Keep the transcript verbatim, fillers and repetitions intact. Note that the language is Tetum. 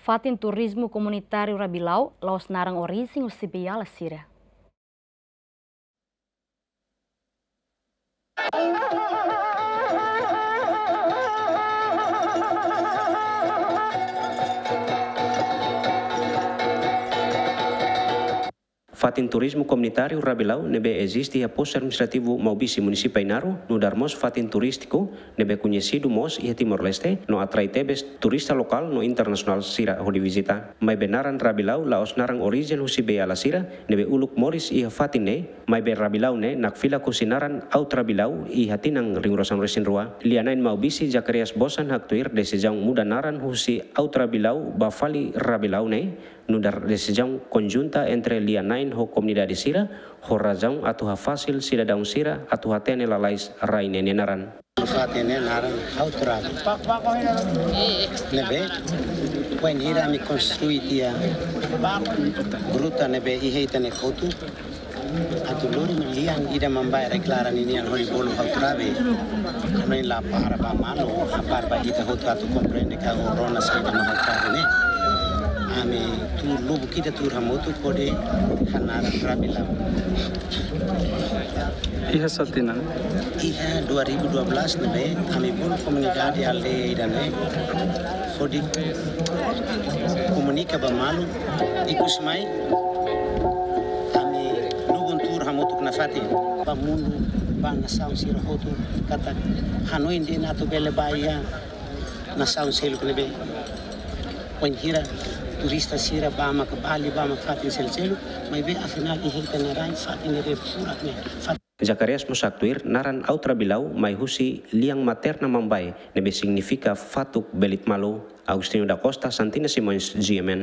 Fatin turizmu komunitáriu Rabilau la'ós naran orijen husi beiala sira. Fatin turizmu komunitáriu Rabilau ne'ebé eziste iha postu administrativu Maubisse, munisípiu Ainaro, nu'udar mós fatin turístiku ne'ebé koñesidu mós iha Timor-Leste, no atrai tebes turista lokál no internasionál sira hodi vizita. Maibé naran Rabilau la'ós naran orijen husi beiala sira ne'ebé uluk moris iha fatin ne'e, maibé Rabilau ne'e nakfilak husi naran Aut Rabilau iha tinan rihun rua. Lia-na'in Maubisse Zacarias Bosan haktuir desizaun muda naran husi Aut Rabilau ba fali Rabilau ne'e nu'udar desizaun konjunta entre lia-na'in ho komunidade sira, ho razaun atu hafasil sidadaun sira atu hatene lalais rai ne'e nia naran. Fatin ne'e naran Aut Rabi. Ne'ebé, wainhira ami konstrui tiha gruta ne'ebé iha ita-nia kotuk, atu lori mak lian ida Mambae deklara ninian hodi bolu Aut Rabi. Ami la para ba malu, hakarak ba ita hotu atu komprende katak rona saida mak Aut Rabi ne'e. Ami tuur lubuk ida tuur hamutuk hodi hanaran Rabilau. Iha sá tinan? Iha dua ribu dua belas ne'ebé ami bolu komunidade aldeia ida-ne'e hodi komunika ba malu, ikus mai ami lubun tuur hamutuk nafatin ba mundu, ba nasaun sira hotu, katak hanoin de'it atu bele ba iha nasaun seluk ne'ebé. Wainhira turista sira ba maka Bali, ba maka fatin seluk-seluk, maibé afinál iha ita-nia rai fatin ne'ebé furak ne'e. Fat- Zacarias mós haktuir naran Aut Rabilau mai husi lian materna Mambae ne'ebé signifika fatuk belit malu. Agostinho da Costa, Santina Simões, G M N.